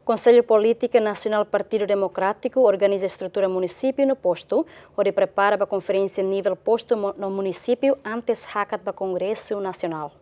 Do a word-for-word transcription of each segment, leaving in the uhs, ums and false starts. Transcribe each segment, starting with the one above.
Konsellu Polítika Nasionál Partidu Demokrátiku organiza estrutura munisípiu no postu, hodi prepara ba konferénsia nivel postu mo-, no munisípiu antes hakat ba Kongresu Nasionál.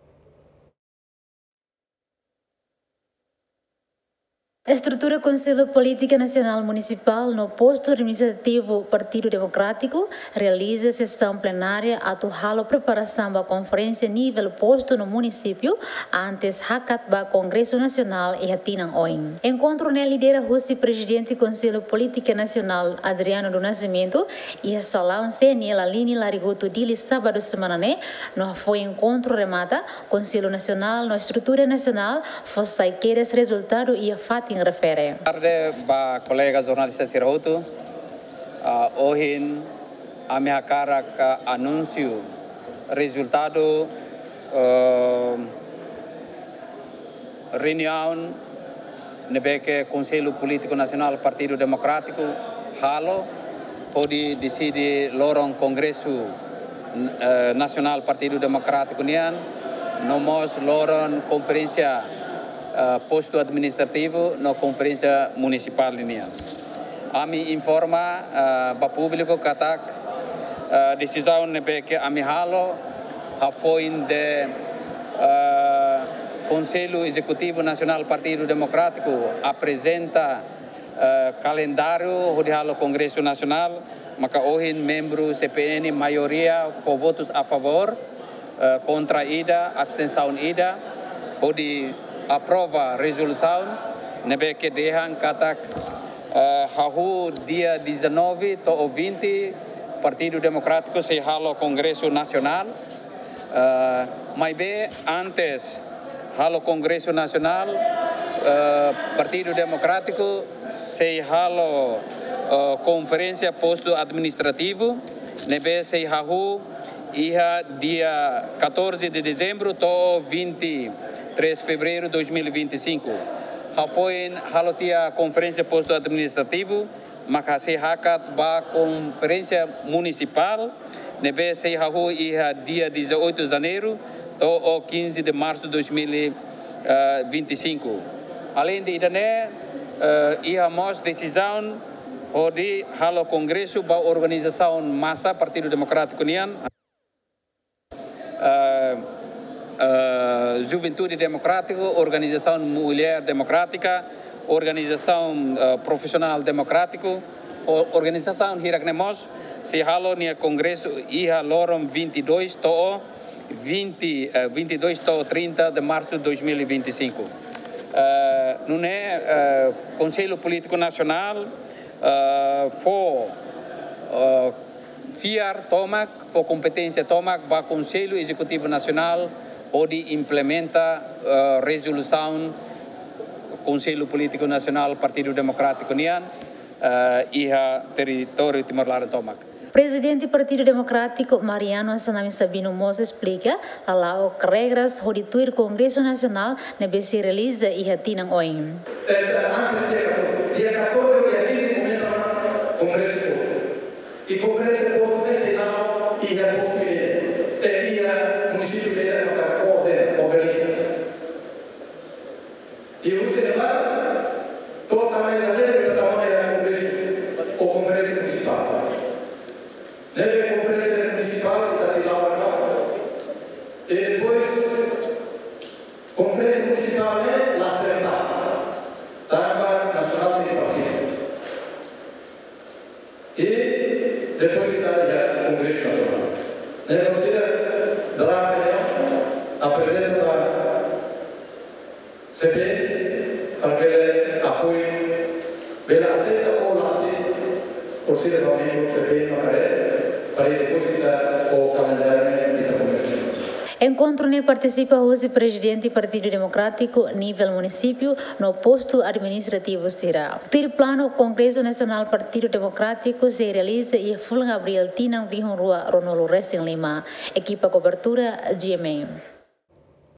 Estrutura Konsellu Polítika Nasionál Munisipál no postu administrativu Partidu Demokrátiku realiza sesaun plenária atu halo preparasaun ba konferénsia nivel postu no munisípiu antes hakat ba Kongresu Nasionál iha tinan oin. Enkontru ne'e lidera husi Prezidente Konsellu Polítika Nasionál Adriano do Nascimento iha salaun C N L Aline Larigutu Dili sábadu semana ne'e, no hafoin enkontru remata, Konsellu Nasionál no estrutura nasionál fó sai kedas rezultadu iha fatin refere. Tarde ba kolega jornalista sira hotu. Ah, ohin ami hakarak, ah, anunsiu rezultadu, eh, reuniaun ne'ebé ke Konsellu Polítiku Nasionál Partidu Demokrátiku halo, hodi deside loron Kongresu, eh, Nasionál Partidu Demokrátiku nian, no mós loron konferénsia, eh, postu administrativu no konferénsia munisipál nian. Ami informa, eh, ba públiku katak, eh, desizaun ne'ebé ke ami halo, hafoin de, eh, Konsellu Ezekutivu Nasionál Partidu Demokrátiku aprezenta, eh, kalendáriu hodi halo Kongresu Nasionál, maka ohin membru C P N maioria fó votus a favór, eh, kontra ida, abstensaun ida, hodi aprova rezolusaun ne'ebé ke dehan katak, eh, hahú dia dezanove to'o vinte, Partidu Demokrátiku sei halo Kongresu Nasionál. Eh, maibé antes halo Kongresu Nasionál, eh, Partidu Demokrátiku sei halo, eh, konferénsia postu administrativu, ne'ebé sei hahú iha dia catorze de dezembro to'o vinte e três fevereiro dois mil e vinte e cinco. Hafoin halo tiha konferénsia postu administrativu, maka sei hakat ba konferénsia munisipál, ne'ebé sei hahú iha dia dezoito de janeiro to'o quinze de março dois mil e vinte e cinco. Aleinde ida-ne'e, eh, iha mós desizaun hodi halo kongresu ba organizasaun masa Partidu Demokrátiku nian, eh, eh, Juventude Demokrátiku, Organizasaun Mulher Demokrátika, Organizasaun, eh, Profisionál Demokrátiku, o-, organizasaun hirak-ne'e mós sei halo nia kongresu iha loron vinte e dois to'o vinte, eh, vinte e dois to'o trinta de março dois mil e vinte e cinco. Eh, nune'e, eh, Konsellu Polítiku Nasionál, eh, fó, eh, fiar tomak, fó kompeténsia tomak ba Konsellu Ezekutivu Nasionál hodi implementa, eh, rezolusaun Konsellu Polítiku Nasionál Partidu Demokrátiku nian, eh, iha territóriu Timor-Leste tomak. Prezidente Partidu Demokrátiku, Mariano Assanami Sabino mós esplika lala'ok regras hodi tuir Kongresu Nasionál ne'ebé sei realiza iha tinan oin. Eh, antes dia catorze, dia catorze ou dia quinze komesa ona konferénsia postu. I konferénsia postu ne'e sei la'o iha postu ida-idak, eh, iha munisípiu ida-idak maka koordena, organiza. I husi ne'ebá, to'o tanba janeiru ita tama ona iha kongresu ou konferénsia munisipál. Ne'ebé konferénsia munisipál ita sei la'o ona. I depois, konferénsia munisipál ne'e la serempa. Tanba nasionál tenke partisipa. I depois ita iha Kongresu Nasionál. Ne'e konsida draft ne'e aprezenta ba C P N para ke apoiu, bele aseita ou la aseita, orsida ba membru C P N no kare, para depois ita ho kalendáriu ne'e ita komesa. Enkontru ne'e partisipa husi Prezidente Partidu Demokrátiku nivel munisípiu no postu administrativu sira. Tuir planu, Kongresu Nasionál Partidu Demokrátiku sei realiza iha fulan Abríl tinan rihun rua ruanulu resin lima. Ekipa kobertura, G M N.